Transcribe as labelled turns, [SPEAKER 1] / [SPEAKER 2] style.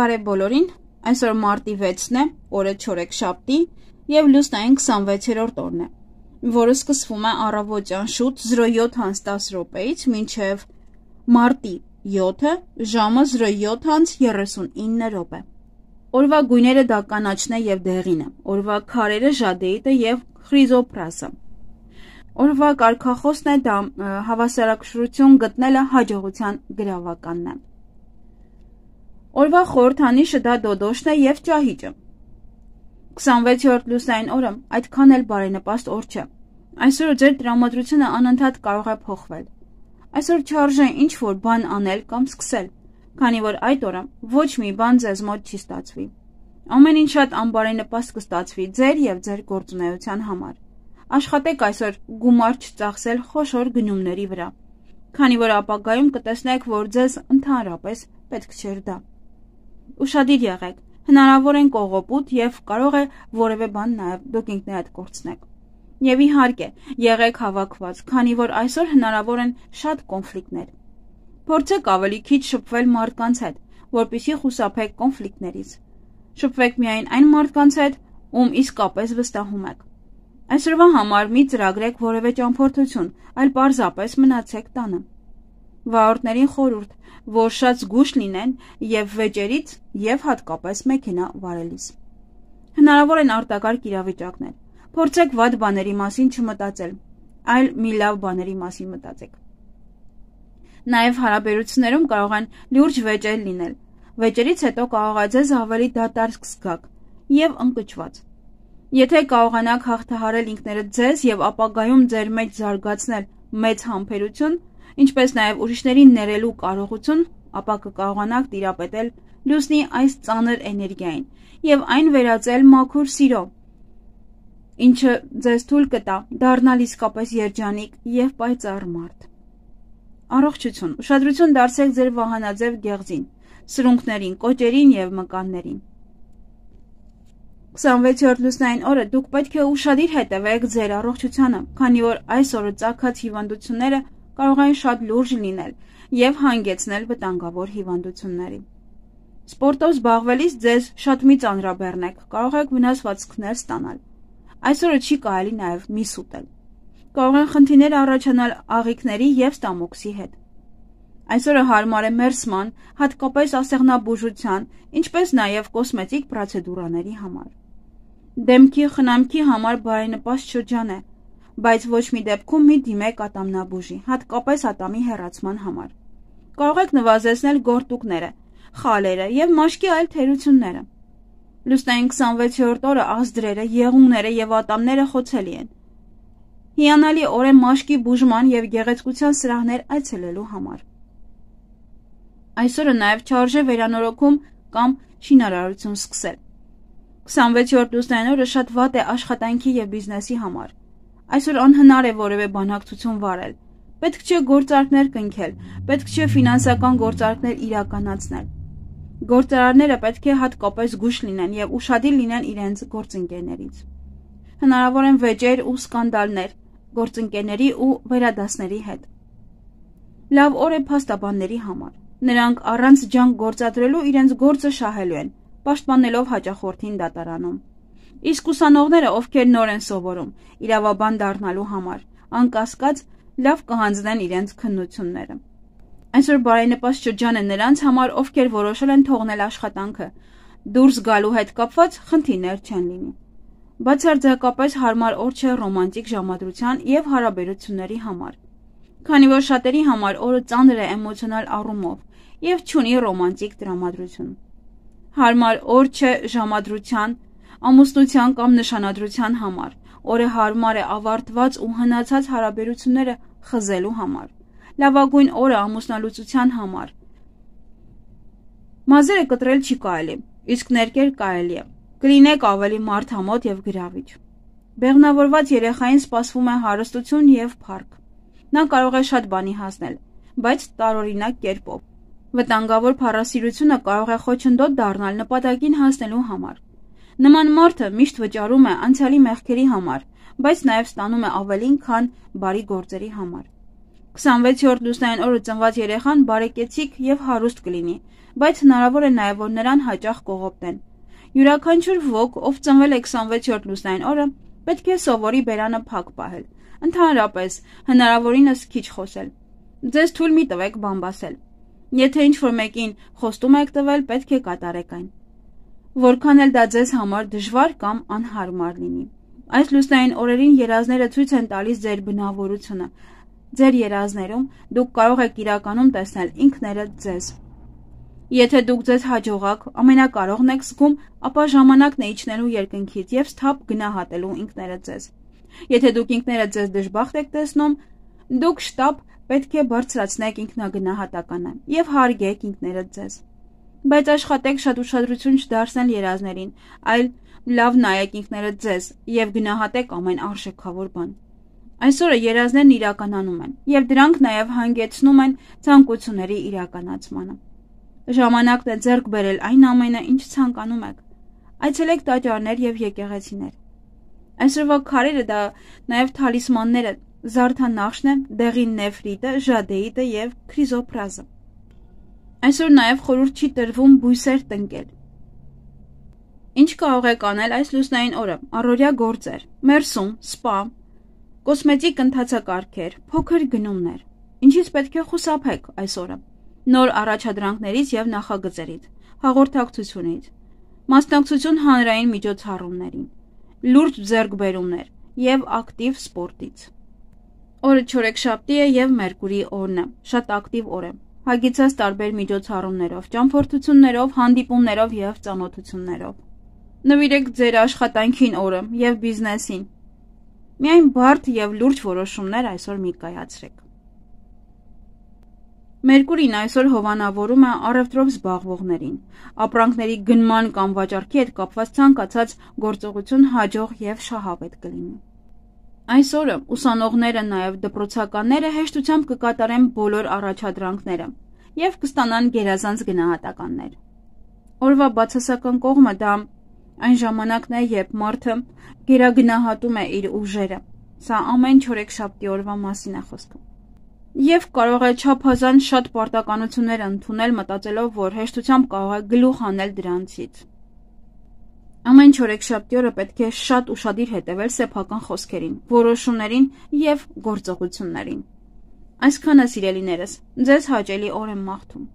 [SPEAKER 1] Բարև բոլորին, այսօր մարտի 6-ն է, օրը չորեքշաբթի և լուսնային 26-րդ օրն է, որը սկսվում է առավոտյան շուտ 07:10-ից մինչև մարտի 7-ը ժամը 07:39 Օրվա գույները դա կանաչն է և դեղինը, օրվա քարերը ժադեիտը և խրիզոպրասը։ Օրվա կարգախոսն է դա հավասարակշռություն գտնելը հաջողության գրավականն է։ Օրվա խորհրդանիշը դա դոդոշն է և ճահիճը։ 26-րդ լուսնային օրը այդքան էլ բարենպաստ օր չէ։ Այսօր ձեր տրամադրությունը անընդհատ կարող է փոխվել։ Այսօր չարժե ինչ-որ բան անել կամ սկսել, քանի որ այդ օրը ոչ մի բան ձեզ մոտ չի ստացվի։ Ամեն ինչ շատ անբարենպաստ կստացվի ձեր և ձեր գործունեության համար։ Աշխատեք այսօր գումար չծախսել խոշոր գնումների վրա, քանի որ ապագայում կտեսնեք, որ ձեզ ընդհանրապես պետք չէր դա։ Ուշադիր եղեք, հնարավոր են կողոպուտ և կարող է որևէ բան նաև դուք ինքներդ կորցնեք։ Եվ իհարկե, եղեք հավաքված, քանի որ այսօր հնարավոր են շատ կոնֆլիկտներ։ Փորձեք ավելի քիչ շփվել մարդկանց հետ, որպեսզի խուսափեք կոնֆլիկտներից։ Շփվեք միայն այն մարդկանց հետ, ում իսկապես վստահում եք։ Այսօրվա համար մի ծրագրեք որևէ ճամփորդություն, այլ պարզապես մնացեք տանը։ Վարորդներին խորհուրդ, որ շատ զգույշ լինեն և վեճերից և հատկապես մեքենա վարելիս։ Հնարավոր են արտակարգ իրավիճակներ։ Փորձեք վատ բաների մասին չմտածել, այլ մի լավ բաների մասին մտածեք։ Նաև հարաբերություններում կարող են լուրջ վեճեր լինել։ Վեճերից հետո կարող է ձեզ ավելի դատարկ զգաք և ընկճված։ Եթե կարողանաք հաղթահարել ինքներդ ձեզ և ապագայում ձեր մեջ զարգացնել մեծ համբերություն, ինչպես նաև ուրիշներին ներելու կարողություն, ապա կկարողանաք տիրապետել լուսնի այս ծանր էներգիային և այն վերածել մաքուր սիրո, ինչը ձեզ թույլ կտա դառնալ իսկապես երջանիկ և պայծառ մարդ։ Առողջություն, ուշադրություն դարձրեք ձեր վահանաձև գեղձին, սրունքներին, կոճերին և մկաններին։ 26-րդ լուսնային օրը դուք պետք է ուշադիր հետևեք ձեր առողջությանը, քանի որ այս օրը ծագած հիվանդությունները կարող են շատ լուրջ լինել և հանգեցնել վտանգավոր հիվանդությունների։ Սպորտով զբաղվելիս ձեզ շատ մի ծանրաբեռնեք, կարող եք վնասվածքներ ստանալ։ Այսօրը չի կարելի նաև միս ուտել։ Կարող են խնդիրներ առաջանալ աղիքների և ստամոքսի հետ։ Այսօրը հարմար է մերսման, հատկապես ասեղնաբուժության, ինչպես նաև կոսմետիկ պրոցեդուրաների համար։ Դեմքի խնամքի համար բարենպաստ շրջան է, բայց ոչ մի դեպքում մի դիմեք ատամնաբուժի, հատկապես ատամի հեռացման համար։ Կարող եք նվազեցնել գորտուկները, խալերը և մաշկի այլ թերությունները։ Լուսնային 26-րդ օրը ազդրերը, եղունգները և ատամները խոցելի են։ Հիանալի օր է մաշկի բուժման և գեղեցկության սրահներ այցելելու համար։ Այսօրը նաև չարժե վերանորոգում կամ շինարարություն սկսել։ 26-րդ լուսնային օրը շատ վատ է աշխատանքի և բիզնեսի համար։ Այսօր անհնար է որևէ բանակցություն վարել։ Պետք չէ գործարքներ կնքել, պետք չէ ֆինանսական գործարքներ իրականացնել։ Գործարարները պետք է հատկապես զգույշ լինեն և ուշադիր լինեն իրենց գործընկերներից։ Հնարավոր են վեճեր ու սկանդալներ գործընկերների ու վերադասների հետ։ Լավ օր է փաստաբանների համար։ Նրանք առանց ջանք գործադրելու իրենց գործը շահելու են, պաշտպանելով հաճախորդին դատարանում։ Իսկ ուսանողները, ովքեր նոր են սովորում, իրավաբան դառնալու համար, անկասկած լավ կհանձնեն իրենց քննությունները։ Այսօր բարենպաստ շրջան է նրանց համար, ովքեր որոշել են թողնել աշխատանքը, դուրս գալու հետ կապված խնդիրներ չեն լինի։ Բացարձակապես հարմար օր չէ ռոմանտիկ ժամադրության և հարաբերությունների համար, քանի որ շատերի համար օրը ծանր է էմոցիոնալ առումով և չունի ռոմանտիկ տրամադրություն։ Հարմար օր չէ ժամադրության, ամուսնության կամ նշանադրության համար, օրը հարմար է ավարտված ու հնացած հարաբերությունները խզելու համար, լավագույն օրը ամուսնալուծության համար։ Մազերը կտրել չի կարելի, իսկ ներկել կարելի է, կլինեք ավելի մարդամոտ և գրավիչ։ Բեղմնավորված երեխային սպասվում է հարստություն և փառք։ Նա կարող է շատ բանի հասնել, բայց տարօրինակ կերպով։ Վտանգավոր փառասիրությունը կարող է խոչընդոտ դառնալ նպատակին հասնելու համար։ Նման մարդը միշտ վճարում է անցյալի մեղքերի համար, բայց նաև ստանում է ավելին, քան բարի գործերի համար։ 26-րդ լուսնային օրը ծնված երեխան բարեկեցիկ եւ հարուստ կլինի, բայց հնարավոր է նաեւ որ նրան հաճախ կողոպտեն։ Յուրաքանչյուր ոք, ով ծնվել է 26-րդ լուսնային օրը, պետք է սովորի բերանը փակ պահել։ Ընդհանրապես, հնարավորինս քիչ խոսել։ Ձեզ թույլ մի տվեք բամբասել։ Եթե ինչ-որ մեկին խոստում եք տվել, պետք է կատարեք այն։ Որքան էլ դա ձեզ համար դժվար կամ անհարմար լինի։ Այս լուսնային օրերին երազները ցույց են տալիս ձեր բնավորությունը։ Ձեր երազներում դուք կարող եք իրականում տեսնել ինքներդ ձեզ։ Եթե դուք ձեզ հաջողակ, ամենակարողն եք զգում, ապա ժամանակն է իջնելու երկնքից եւ սթափ գնահատելու ինքներդ ձեզ։ Եթե դուք ինքներդ ձեզ դժբախտ եք տեսնում, դուք շտապ պետք է բարձրացնեք ինքնագնահատականը եւ հարգեք ինքներդ ձեզ։ Բայց աշխատեք շատ ուշադրություն չդարձնել երազներին, այլ լավ նայեք ինքներդ ձեզ եւ գնահատեք ամեն արժեքավոր բան։ Այսօրը երազներն իրականանում են եւ դրանք նաեւ հանգեցնում են ցանկությունների իրականացմանը։ Ժամանակն է ձեռք բերել այն ամենը, ինչ ցանկանում եք։ Այցելեք տաճարներ եւ եկեղեցիներ։ Այսօրվա քարերը դա նաեւ թալիսմանները, զարդանախշն է, դեղին նեֆրիտը, ժադեիտը եւ քրիզոպրազը։ Այսօր նաեւ խորհուրդ չի տրվում բույսեր տնկել։ Ինչ կարող եք անել այս լուսնային օրը։ Առօրյա գործեր, մերսում, սպա, կոսմետիկ ընթացակարգեր, փոքր գնումներ։ Ինչից պետք է խուսափեք այս օրը։ Նոր առաջադրանքներից եւ նախագծերից, հաղորդակցությունից, մասնակցություն հանրային միջոցառումներին, լուրջ ձեռքբերումներ եւ ակտիվ սպորտից։ Օրը չորեքշաբթի է եւ Մերկուրի օրն է, շատ ակտիվ օր է, հագեցած տարբեր միջոցառումներով, ճամփորդություններով, հանդիպումներով եւ ծանոթություններով։ Նվիրեք ձեր աշխատանքին օրը եւ բիզնեսին։ Միայն բարդ եւ լուրջ որոշումներ այսօր մի կայացրեք։ Մերկուրին այսօր հովանավորում է առևտրով զբաղվողներին, ապրանքների գնման կամ վաճառքի հետ կապված ցանկացած գործողություն հաջող եւ շահավետ կլինի։ Այսօրը ուսանողները նաեւ դպրոցականները հեշտությամբ կկատարեն բոլոր առաջադրանքները եւ կստանան գերազանց գնահատականներ։ Օրվա բացասական կողմը դա այն ժամանակն է, երբ մարդը գերագնահատում է իր ուժերը։ Սա ամեն չորեքշաբթի օրվա մասին է խոսքը։ Եվ կարող է չափազանց շատ պարտականություններ ընդունել, մտածելով, որ հեշտությամբ կարող է գլուխ հանել դրանցից։ Ամեն չորեքշաբթի օրը պետք է շատ ուշադիր հետևել սեփական խոսքերին, որոշումներին եւ գործողություններին։ Այսքանը, սիրելիներս, ձեզ հաճելի օր եմ մաղթում։